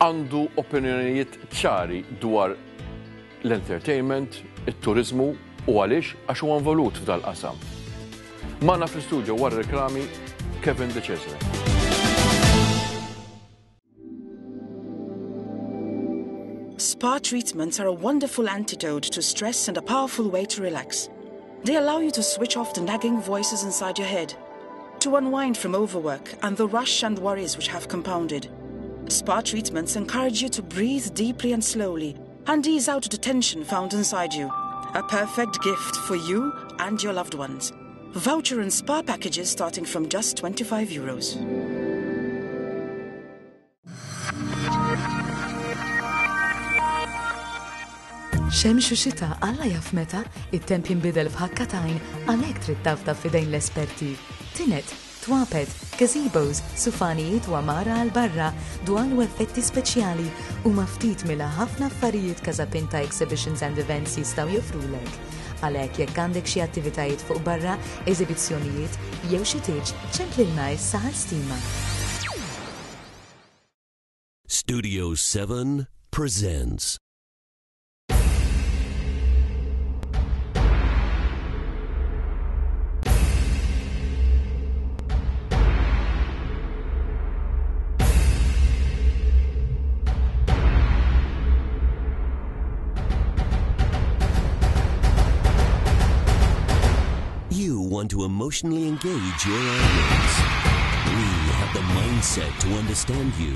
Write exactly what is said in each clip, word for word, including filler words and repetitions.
Għandu opinjonijiet ċari dwar l-entertainment, it-turizmu u għaliex għax huwa involut f'dal-qasam. Magħna fl-studio wara reklami Kevin De Cesare. Spa treatments are a wonderful antidote to stress and a powerful way to relax. They allow you to switch off the nagging voices inside your head, to unwind from overwork and the rush and worries which have compounded. Spa treatments encourage you to breathe deeply and slowly and ease out the tension found inside you. A perfect gift for you and your loved ones. Voucher and spa packages starting from just twenty-five euros. Xemx u xita, Alla jaf meta, it-temp jinbidel f'ħakka t'għajn, għalhekk trid tafda f'idejn l-esperti. Tined, twapet, gazebos, sufanijiet u għamara għal barra, dwal u effetti speċjali u ftit mill-ħafna affarijiet Casapinta Exhibitions and Events jistgħu joffrulek. Għalhekk jekk għandek xi attivitajiet fuq barra, eżibizzjonijiet jew xi tieġ, ċemplilna issa għal stima. Studio seven presents. You want to emotionally engage your audience. We have the mindset to understand you.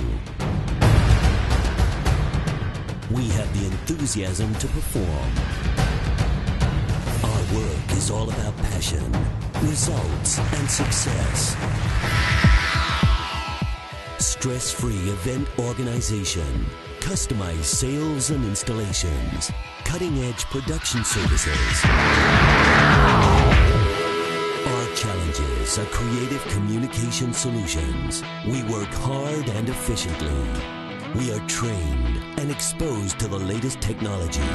We have the enthusiasm to perform. Our work is all about passion, results, and success. Stress-free event organization, customized sales and installations, cutting-edge production services. Our challenges are creative communication solutions. We work hard and efficiently. We are trained and exposed to the latest technology.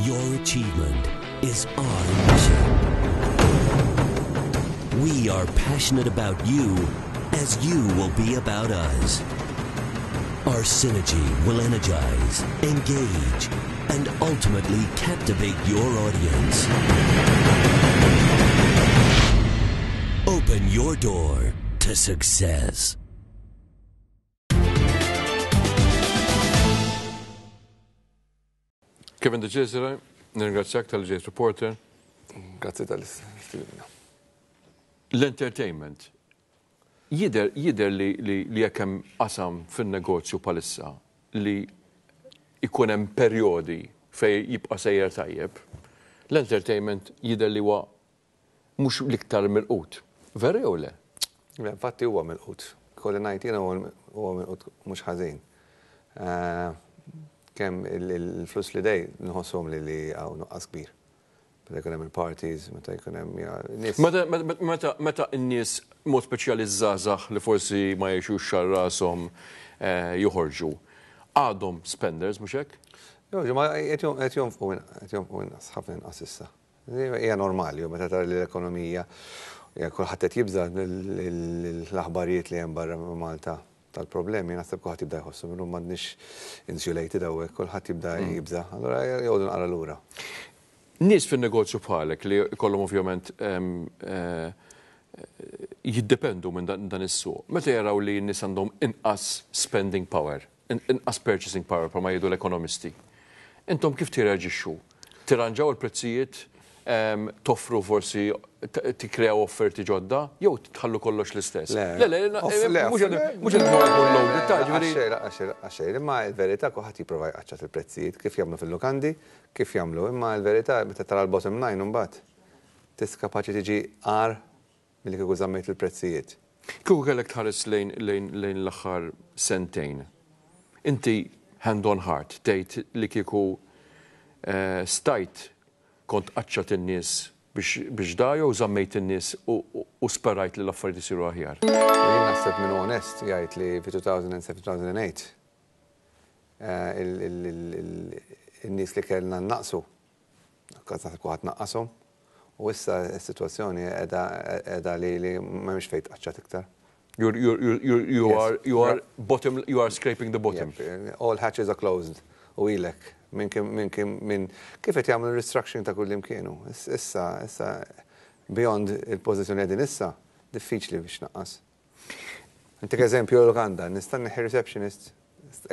Your achievement is our mission. We are passionate about you as you will be about us. Our synergy will energize, engage, and ultimately captivate your audience. Open your door to success. Kevin De Cesare, nirringrazzjak talli ġejt Reporter. Grazzi tal-istedina. L-entertainment. Jidher, jidher li, li, li jekk hemm qasam fin-negozju bħalissa li ikun hemm perjodi fej jibqa' sejjer tajjeb, l-entertainment jidher li huwa mhux l-iktar milqut. Veru jew le? Le, infatti huwa milqut. Kolli ngħid jiena huwa milqut mhux ħażin. Eh, Kemm il-flus li dej nħosshom li li hawn nuqqas kbir. Meta jkun hemm il-parties, meta jkun hemm ja, nies. Meta, meta, meta n-nies mod speċjali żgħażagħ li forsi ma jgħixux xar rashom eh, joħorġu, għadhom spenders, mhux hekk? Jo, ma qed jonfqu qed jonfqu inqas, ħafna inqas issa. Hija normali, u meta tara li l-ekonomija hija kulħadd qed jibża l-aħbarijiet li hemm barra Malta tal-problemi, naħseb kulħadd jibda jħossu minnu m'għandniex insulated hawnhekk, kulħadd jibda jibża. Allura jgħodu naqra lura. Nies fin-negozju bħalek li kollhom ovvjament em, eh, jiddependu minn dan, dan is-suq. Meta jaraw li n-nies għandhom inqas spending power, in- inqas purchasing power bħalma jgħidu l-ekonomisti. Intom kif tirreaġixxu? Tirranġaw il-prezzijiet, em, toffru forsi t- tikkreaw offerti ġodda, jew tħallu kollox l-istess? Le. Le, le, le, Off- le, mhux off- qed- mhux qed jkun loaded, ta' ġifieri. Għaxej, għaxej, għaxej, imma il-verità kulħadd jipprova jqaċċat il-prezzijiet, kif jagħmlu fil-lukandi, kif jagħmlu, imma il-verità meta tara l-bottom line imbagħad tis kapaċi tiġi agħar milli kieku żammejt il-prezzijiet. Kieku kellek tħares lejn lejn lejn l-aħħar sentejn. Inti hand on heart tgħid li kieku eh, stajt kont qaċċat in-nies biex biex da jew żammejt in-nies u, u, u sperajt li l-affarijiet isiru aħjar? Jien naħseb minn onest jgħid li fi elfejn u sebgħa elfejn u tmienja eh, il- il- il- il- il-nies li kellna naqsu, naħseb kulħadd naqqashom, u issa s-sitwazzjoni qiegħda qiegħda li li m'hemmx fejn tqaċċat iktar. You're, you're, you're, you Yes. are, you are bottom, you are scraping the bottom. Yep, all hatches are closed. U ilek, minn kim, minn kim, minn kif qed jagħmlu restructuring ta' kull imkienu. Issa, issa, beyond il-pożizzjoni qegħdin issa, diffiċli biex naqqas. Intik eżempju lukanda, nista' nneħħi receptionist,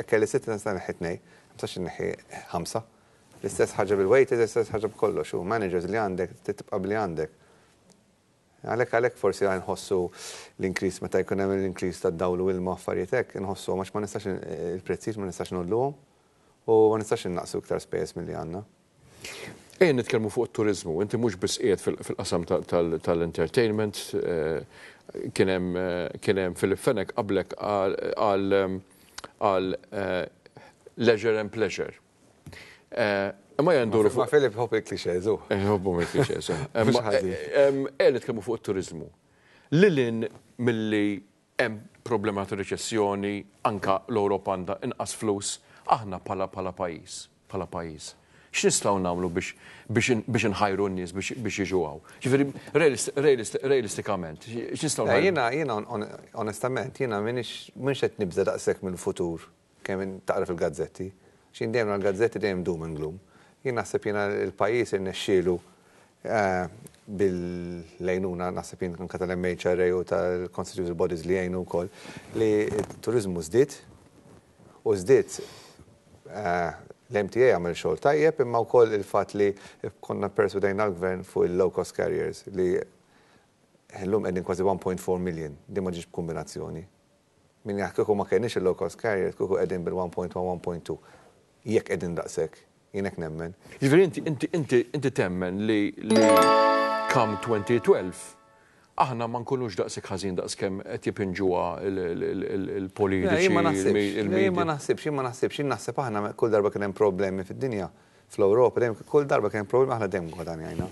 kelli sitta, nista' nneħħi tnejn, ma nistax nneħħi ħamsa. L-istess ħaġa bil-waiters, l-istess ħaġa b'kollox, u managers li għandek, tibqa' bli għandek. Għalhekk għalhekk forsi għan nħossu l-increase meta jkun hemm l-increase ta' dawl u ilma, affarijiet hekk, nħossu għax ma nistax il-prezzijiet ma nistax ngħolluhom u ma nistax innaqsu iktar spejjeż milli għandna. Ejja nitkellmu fuq it-turizmu. Inti mhux biss qiegħed fil-qasam tal-entertainment, eh, kien hemm eh, kien hemm Philip Fenech qablek għal għal eh, leisure and pleasure. Imma janduru fuq. Ma Philip iħobb il-clichés, u. Iħobbu il-clichés. Ejja nitkellmu fuq it-turizmu. Lil hinn milli hemm problema ta' riċessjoni, anka l-Ewropa għandha inqas flus, aħna bħala bħala pajjiż, bħala pajjiż. X'nistgħu nagħmlu biex biex inħajru n-nies biex biex jiġu hawn? Ġifieri realistikament, x'nistgħu nagħmlu? Jiena jiena onestament, jiena m'iniex m'iniex qed nibża daqshekk mill-futur kemm taqra fil-gazzetti. X'in dejjem l-gazzetti dejjem doom and gloom. Jien naħseb jiena il-pajjiż irnexxielu eh, bil-lejnuna naħseb jien anka tal-M H R A u tal-Constitutional Bodies li jgħinu wkoll li t-turizmu żdied u żdied eh, l-M T A għamel xogħol tajjeb, imma wkoll il-fatt li konna perswadejna l-gvern fuq il-low cost carriers li llum qegħdin kważi one point four million, di ma ġiex b'kombinazzjoni. Min jaf kieku ma kenniex il-low cost carriers, kieku qegħdin bil-one point one, one point two. Jekk qegħdin daqshekk, jien hekk nemmen. Ġifieri inti inti inti inti temmen li li come twenty twelve aħna ma nkunux daqshekk ħażin daqs kemm qed jipinġuha il-politiċi. Jien ma naħsibx, jien ma naħsibx, jien ma naħsibx, jien naħseb aħna kull darba kien hemm problemi fid-dinja, fl-Ewropa, dejjem kull darba kien hemm problemi aħna dejjem gwadanjajna.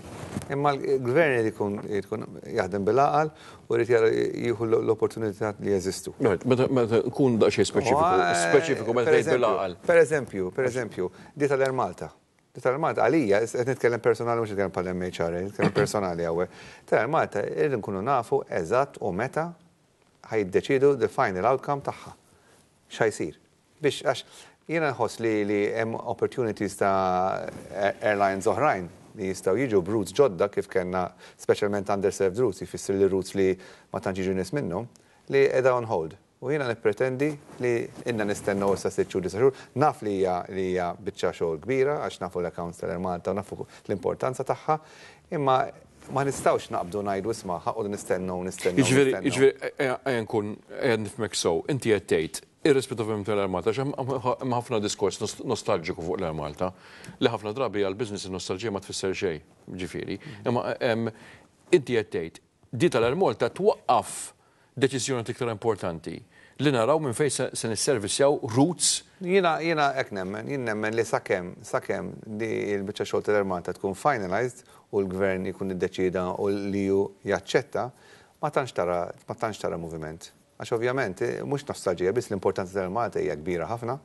Imma l-gvern irid ikun ikun jaħdem bil-għaqal u jrid jara jieħu l-opportunità li jeżistu. Meta meta nkun daqsxejn speċifiku, speċifiku meta tgħid bil-għaqal. Per eżempju, per eżempju, di tal-Air Malta. Di tal-Air Malta, għalija, qed nitkellem personali, mhux nitkellem bħal M H R A, nitkellem personali hawnhekk. Tal-Air Malta irrid nkunu nafu eżatt u meta ħa jiddeċidu the final outcome tagħha. X'ħa jsir. Biex għax jiena nħoss li li hemm opportunities ta' airlines oħrajn li jistgħu jiġu b'routes ġodda kif kellna, speċjalment underserved routes, jfisser li routes li ma tantx jiġu nies minnhom, li qiegħda on hold. U jiena nippretendi li inna nistennew issa sitt xhur, disa' xhur, naf li hija li hija biċċa xogħol kbira għax nafu l-accounts tal-Air Malta u nafu l-importanza tagħha, imma ma nistgħux naqbdu ngħidu isma' ħa noqogħdu nistennew, nistennew. Jiġifieri, nistennew. Jiġifieri, ejja nkun ejja nifhmek sew, inti qed tgħid irrispettivament tal-Air Malta, għax hemm ħafna diskors nostalġiku fuq l-Air Malta, li ħafna drabi għal business nostalġija ma tfisser xejn, ġifieri. Imma inti qed tgħid di tal-Air Malta twaqqaf deċiżjoni iktar importanti li naraw minn fejn se nisservisjaw routes. Jiena jiena hekk nemmen, jien nemmen li sakemm sakemm di l-biċċa xogħol tal-Air Malta tkun finalized u l-gvern jkun iddeċida u li ju jaċċetta, ma tantx tara ma tantx tara moviment. Għax ovvjament eh, mhux nostalġija biss, l-importanza tal-Air Malta hija kbira ħafna.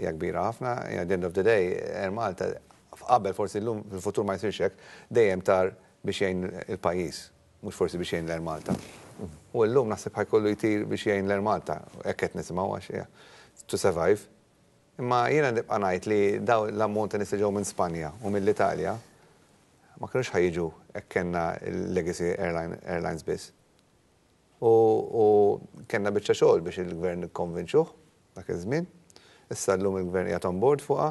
Hija kbira ħafna, at the end of the day Air Malta qabel, forsi llum fil-futur ma jsirx hekk, dejjem tar biex jgħin il-pajjiż, mhux forsi biex jgħin l-Air Malta. U llum naħseb ħa jkollu jtir biex jgħin l-Air Malta, hekk qed nisimgħu għax yeah, to survive. Imma jiena nibqa' ngħid li daw l-ammont ta' nies li ġew minn Spanja u mill-Italja ma kinux ħa jiġu hekk kellna l-legacy airline, airlines biss. U, u kellna biċċa xogħol biex il-gvern ikkonvinċuh dak iż-żmien. Issa llum il-gvern qiegħed on board fuqha,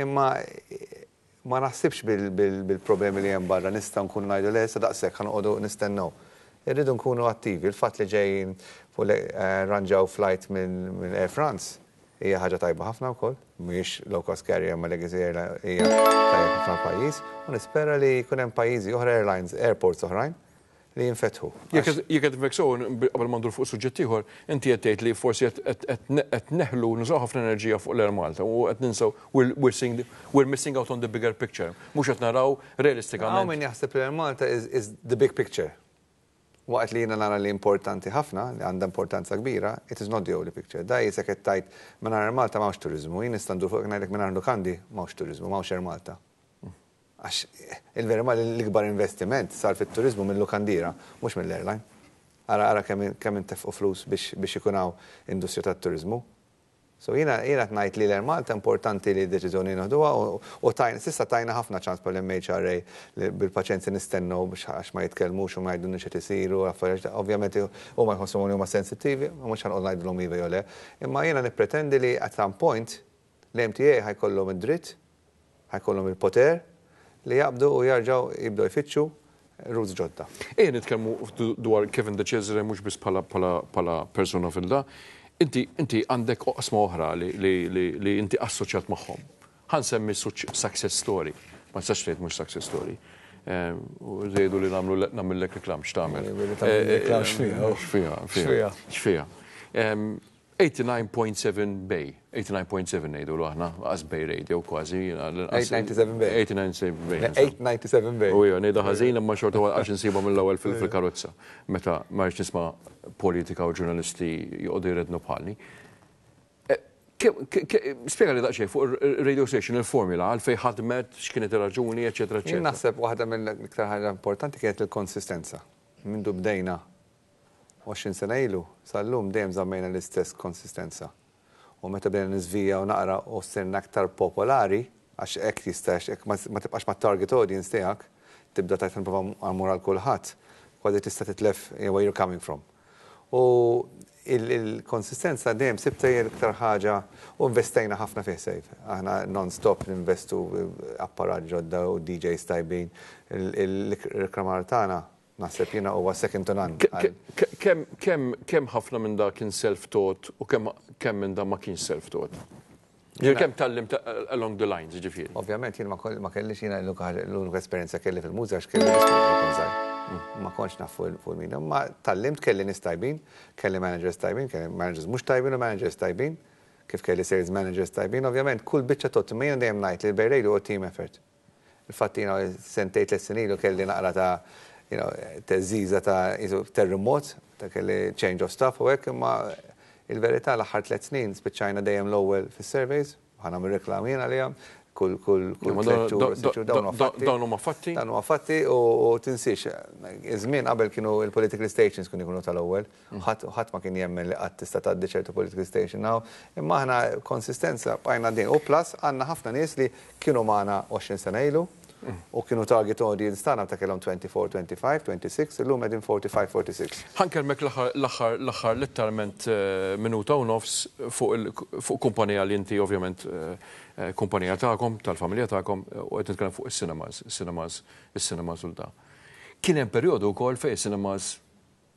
imma ma naħsibx bil-problemi li hemm barra nista' nkunu ngħidu le, issa daqshekk ħa noqogħdu nistennew. Irridu nkunu attivi. Il-fatt li ġejjin fuq eh, ranġaw flight minn Air France hija ħaġa tajba ħafna wkoll, mhijiex low cost carrier ma legacy airline, hija tajba ħafna pajjiż u nispera li jkun hemm pajjiżi oħra, airlines, airports oħrajn li jinfetħu. Jekk qed nifhmek sew, qabel ma ndur fuq suġġett ieħor, inti qed tgħid li forsi qed neħlu nużaw ħafna enerġija fuq l-Air Malta u qed ninsew we're seeing we're missing out on the bigger picture. Mhux qed naraw realistikament. Hawn min jaħseb li Air Malta is, is the big picture. Waqt li jiena nara li importanti ħafna, li għandha importanza kbira, it is not the only picture. Da jisek qed tgħid mingħajr Air Malta m'hawnx turizmu, jien nista' ndur fuq ngħidlek mingħajr lukandi m'hawnx turizmu, m'hawnx Air Malta. Għax il-vera ma l-ikbar investiment sar fit-turizmu mill-lukandira, mhux mill-airline. Ara ara kemm kemm intefqu flus biex biex ikun hawn industrija tat-turizmu. So jiena jiena ngħid li l-Air Malta importanti li deċiżjoni noħduha u, u tajna s'issa tajna ħafna ċans bħal M H R A li bil-paċenzja nistennew biex għax ma jitkellmux u ma jgħidulniex qed isiru affarijiet. Ovvjament huma jħossuhom li huma sensittivi, u mhux ħa nqogħod ngħidulhom iva jew le. Imma jiena nippretendi li at some point l-M T A ħa jkollhom id-dritt, ħa jkollhom il-poter li jaqbdu u jarġgħu jibdew jfittxu routes ġodda. Ejja nitkellmu dwar Kevin De Cesare mhux biss bħala bħala bħala persuna fil-da. Inti inti għandek oqsma oħra li, li, li, li inti assoċjat magħhom. Ħa nsemmi success story. Ma tistax tgħid mhux success story. Eh, U żejdu li nagħmlu nagħmellek reklam, x'tagħmel. Eh, tagħmel reklam x'fiha, oh. X'fiha, X'fiha. X'fiha. Em, eighty-nine point seven Bay, eighty-nine point seven ngħidu aħna, għax Bay Radio kważi. eight ninety-seven Bay. eight ninety-seven Bay. eight ninety-seven Bay. U jo, ngħidha ħażin imma xorta għax insibha mill-ewwel fil-karozza. Meta ma rridx nisma' politika u ġurnalisti joqogħdu jrednu bħalni. Eh, Spjega li daqsxejn fuq il-radio station, il-formula, għalfejn ħadmet, x'kienet ir-raġuni, eċetera, Jien eċetera. naħseb waħda mill-iktar ħaġa importanti kienet il-konsistenza. Mindu bdejna għoxrin sena ilu, sal-lum dejjem żammejna l-istess konsistenza. U meta bdejna niżvija u naqra u sirna aktar popolari, għax hekk jistax, hekk ma ma tibqax ma' target audience tiegħek, tibda tajt nipprova mmur għal kulħadd, kważi tista' titlef where you're coming from. U il-konsistenza dejjem sibta hija l-iktar ħaġa u investejna ħafna fih sejf. Aħna non-stop ninvestu apparat ġodda u D Js tajbin. Il-reklamar tagħna naħseb jiena huwa second to none. Kemm kemm kemm ħafna minn da kien self-taught u kemm kemm minn da ma kien self-taught? Ġifieri kemm tgħallimt along the lines, ġifieri. Ovvjament jien ma koll- ma kellix jiena l-unika l-unika esperjenza kelli fil-mużika għax kelli l-iskużi kont żgħir. Ma kontx naf fuq fuq il-media, ma tgħallimt, kelli nies tajbin, kelli managers tajbin, kelli managers mhux tajbin u managers tajbin, kif kelli sales managers tajbin, ovvjament kull biċċa tot, imma jiena dejjem ngħid li l-Bay Radio huwa team effort. Il-fatt jiena sentejn tliet snin ilu kelli naqra ta' you know, teżiża ta' jisu terremot, ta' kelli change of staff u hekk, imma il-verità l-aħħar tliet snin spiċċajna dejjem l-ewwel fis-surveys, ħa nagħmel reklam jien għalihom, kull kull kull Ma tliet xhur, sitt xhur, dawn huma fatti. Dawn huma fatti. Dan huwa fatti u u tinsiex, iż-żmien qabel kienu il-political stations kienu jkunu tal-ewwel, ħadd ħadd ma kien jemmen li qatt tista' tgħaddi ċertu political station now, imma aħna konsistenza bqajna din. U plus għandna ħafna nies li kienu magħna għoxrin sena ilu u kienu target audience tagħna ta' kellhom twenty-four, twenty-five, twenty-six, illum qegħdin forty-five, forty-six. Ħa nkellmek l-aħħar l-aħħar l-aħħar letteralment eh, minuta u nofs fuq il- fuq kumpanija li inti ovvjament eh, eh, kumpanija tagħkom, tal-familja tagħkom, eh, u qed nitkellem fuq is-cinemas, is-cinemas, is-cinemas u da. Kien hemm perjodu wkoll fejn is-cinemas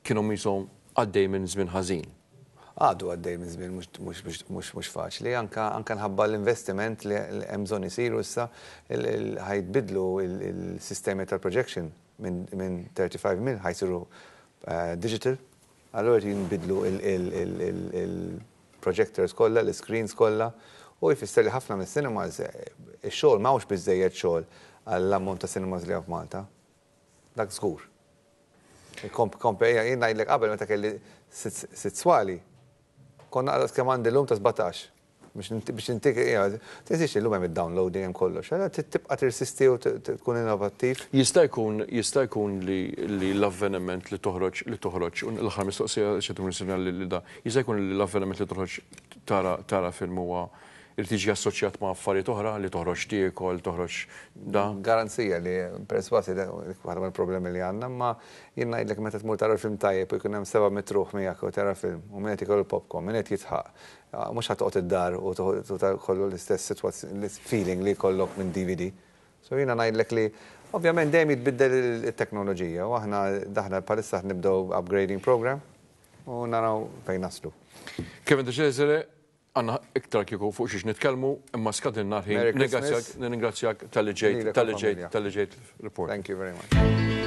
kienu qishom għaddej minn żmien ħażin. Għadu għaddej minn żmien mhux- mhux mhux mhux mhux faċli, anka anka nħabba l-investiment li li hemm bżonn isiru issa il- il- ħa jitbiddlu il- il-sistemi tal-projection minn minn thirty-five mil ħa jsiru eh, digital. Allura jinbidlu il-projectors kollha, l-screens kollha, u jfisser li ħafna mis-cinemas eh, ix-xogħol m'hawnx biżejjed xogħol għall-ammont ta' cinemas li hawn f'Malta. Dak żgur. Komp, komp, jien ngħidlek qabel meta kelli sitt sitt swali, konna għadas kemm għandi l-lum ta' sbatax. Biex inti- biex intik, tinsiex illum hemm id-downloading, hemm kollox. Allora trid tibqa' tirsisti u t- t- tkun innovattiv. Jista' jkun jista' jkun li, li l-avveniment li toħroġ li toħroġ u l-aħħar mistoqsija xi tkun li li da jista' jkun li l-avveniment li toħroġ tara tara film huwa irid jiġi assoċjat ma' affarijiet oħra li toħroġ tiekol, toħroġ da. Garanzija li perswasi waħda mill-problemi li għandna, ma jien ngħidlek meta tmur tara film tajjeb u jkun hemm seba' mitt ruħ miegħek u tara film u min qed ikollu popcorn, min qed jidħaq. Mhux ħa toqgħod id-dar u kollu l-istess sitwazzjoni, feeling li jkollok minn D V D. So jiena ngħidlek li ovvjament dejjem jitbiddel it-teknoloġija u aħna daħna bħalissa nibdew upgrading program u naraw fejn naslu. Kevin De Cesare, għandna iktar kieku fuq xiex nitkellmu, imma skadilna ħin. Merry Christmas. Ningrazzjak talli ġejt, Lilek u talli ġejt, familja. talli ġejt report. Thank you very much.